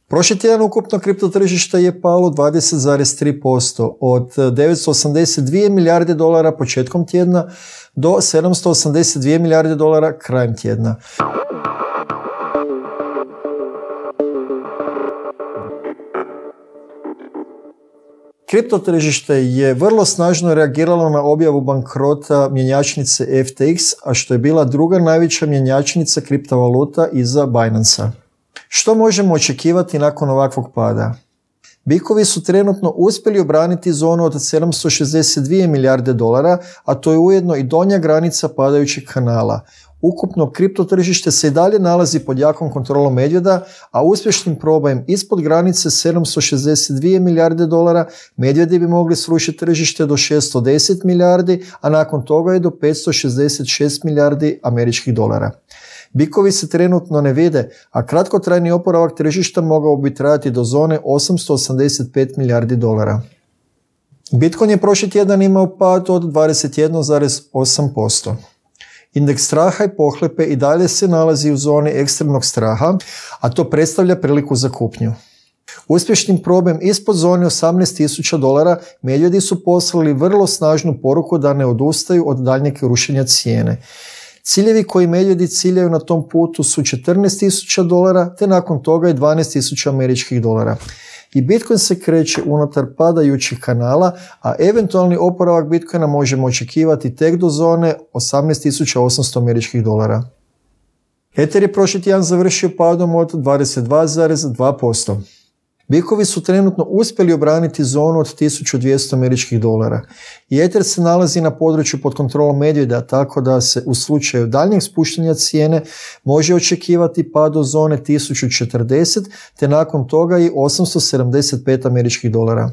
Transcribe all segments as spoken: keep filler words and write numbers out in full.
Prošli tjedan ukupno kripto tržište je palo dvadeset zarez tri posto od devetsto osamdeset dvije milijarde dolara početkom tjedna do sedamsto osamdeset dvije milijarde dolara krajem tjedna. Kripto tržište je vrlo snažno reagiralo na objavu bankrota mjenjačnice F T X, a što je bila druga najveća mjenjačnica kriptovaluta iza Binance-a. Što možemo očekivati nakon ovakvog pada? Bikovi su trenutno uspjeli obraniti zonu od sedamsto šezdeset dvije milijarde dolara, a to je ujedno i donja granica padajućeg kanala. Ukupno kripto tržište se i dalje nalazi pod jakom kontrolom medvjeda, a uspješnim probajem ispod granice sedamsto šezdeset dvije milijarde dolara medvjedi bi mogli srušiti tržište do šesto deset milijardi, a nakon toga i do petsto šezdeset šest milijardi američkih dolara. Bikovi se trenutno ne vide, a kratkotrajni oporavak tržišta mogao bi trajati do zone osamsto osamdeset pet milijardi dolara. Bitcoin je prošli tjedan imao pad od dvadeset jedan zarez osam posto. Indeks straha i pohlepe i dalje se nalazi u zoni ekstremnog straha, a to predstavlja priliku za kupnju. Uspješnim probajem ispod zone osamnaest tisuća dolara medvjedi su poslali vrlo snažnu poruku da ne odustaju od daljnjeg rušenja cijene. Ciljevi koji medvjedi ciljaju na tom putu su četrnaest tisuća dolara, te nakon toga i dvanaest tisuća američkih dolara. I Bitcoin se kreće unutar padajućih kanala, a eventualni oporavak Bitcoina možemo očekivati tek do zone osamnaest tisuća osamsto američkih dolara. Ether je prošli tjedan završio padom od dvadeset dva zarez dva posto. Bikovi su trenutno uspjeli obraniti zonu od tisuću dvjesto američkih dolara. I Ether se nalazi na području pod kontrolom medvjeda, tako da se u slučaju daljnjeg spuštanja cijene može očekivati pad do zone tisuću četrdeset, te nakon toga i osamsto sedamdeset pet američkih dolara.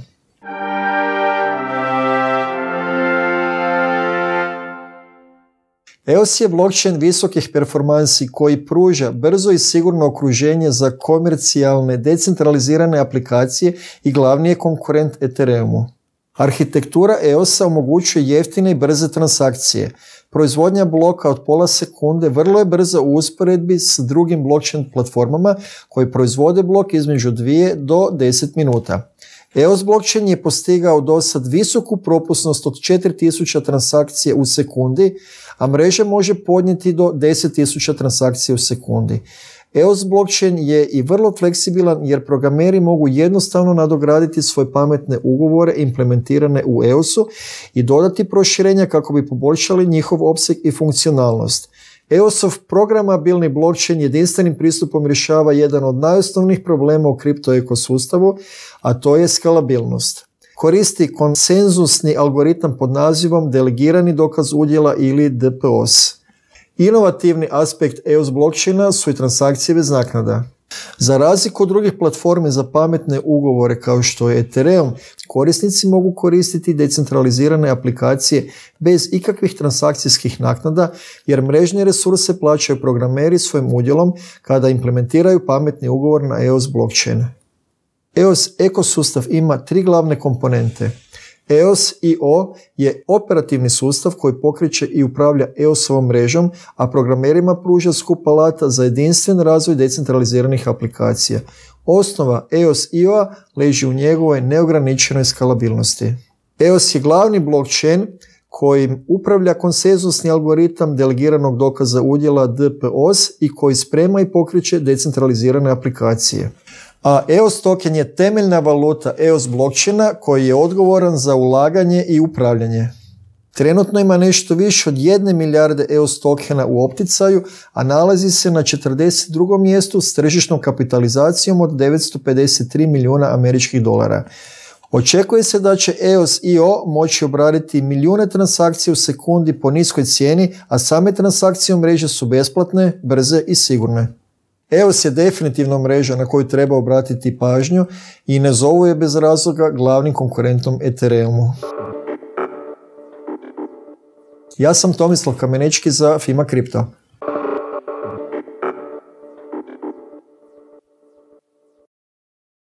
E O S je blockchain visokih performansi koji pruža brzo i sigurno okruženje za komercijalne, decentralizirane aplikacije i glavni je konkurent Ethereumu. Arhitektura E O S-a omogućuje jeftine i brze transakcije. Proizvodnja bloka od pola sekunde vrlo je brza u usporedbi s drugim blockchain platformama koji proizvode blok između dvije do deset minuta. E O S blockchain je postigao do sad visoku propusnost od četiri tisuće transakcije u sekundi, a mreža može podnijeti do deset tisuća transakcija u sekundi. E O S blockchain je i vrlo fleksibilan jer programeri mogu jednostavno nadograditi svoje pametne ugovore implementirane u E O S-u i dodati proširenja kako bi poboljšali njihov opseg i funkcionalnost. E O S-ov programabilni blockchain jedinstvenim pristupom rješava jedan od najosnovnijih problema u kripto ekosustavu, a to je skalabilnost. Koristi konsenzusni algoritam pod nazivom delegirani dokaz udjela ili D P O S. Inovativni aspekt E O S blockchaina su i transakcije bez naknada. Za razliku od drugih platformi za pametne ugovore kao što je Ethereum, korisnici mogu koristiti decentralizirane aplikacije bez ikakvih transakcijskih naknada jer mrežne resurse plaćaju programeri svojim udjelom kada implementiraju pametni ugovor na E O S blockchain. E O S ekosustav ima tri glavne komponente. E O S I O je operativni sustav koji pokreće i upravlja E O S-ovom mrežom, a programerima pruža skup alata za jedinstven razvoj decentraliziranih aplikacija. Osnova E O S I O-a leži u njegovoj neograničenoj skalabilnosti. E O S je glavni blockchain kojim upravlja konsensusni algoritam delegiranog dokaza udjela D P O S i koji sprema i pokreće decentralizirane aplikacije. A E O S token je temeljna valuta E O S blockchaina koji je odgovoran za ulaganje i upravljanje. Trenutno ima nešto više od jedne milijarde E O S tokena u opticaju, a nalazi se na četrdeset drugom mjestu s tržišnom kapitalizacijom od devetsto pedeset tri milijuna američkih dolara. Očekuje se da će E O S I O moći obraditi milijune transakcija u sekundi po niskoj cijeni, a same transakcije u mreži su besplatne, brze i sigurne. E O S je definitivno mreža na koju treba obratiti pažnju i ne zovu je bez razloga glavnim konkurentom Ethereumu. Ja sam Tomislav Kamenečki za Fima Kripto.